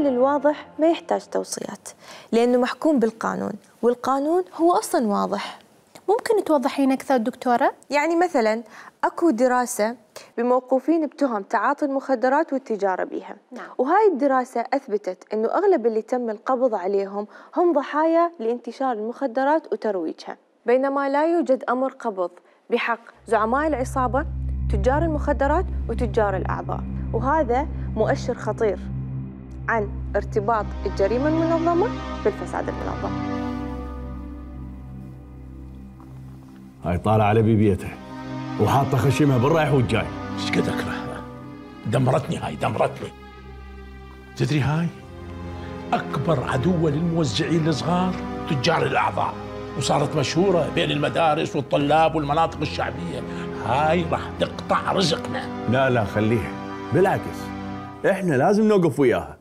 الواضح ما يحتاج توصيات لأنه محكوم بالقانون، والقانون هو أصلاً واضح. ممكن توضحين أكثر دكتورة؟ يعني مثلاً أكو دراسة بموقوفين بتهم تعاطي المخدرات والتجارة بها. وهاي الدراسة أثبتت أنه أغلب اللي تم القبض عليهم هم ضحايا لانتشار المخدرات وترويجها، بينما لا يوجد أمر قبض بحق زعماء العصابة، تجار المخدرات وتجار الأعضاء. وهذا مؤشر خطير عن ارتباط الجريمة المنظمة بالفساد المنظم. هاي طالعة على بيبيتها وحاطة خشمها بالرايح والجاي. ايش قد اكرهها، دمرتني هاي دمرتني. تدري هاي أكبر عدوة للموزعين الصغار تجار الأعضاء، وصارت مشهورة بين المدارس والطلاب والمناطق الشعبية. هاي راح تقطع رزقنا. لا خليها، بالعكس احنا لازم نوقف وياها.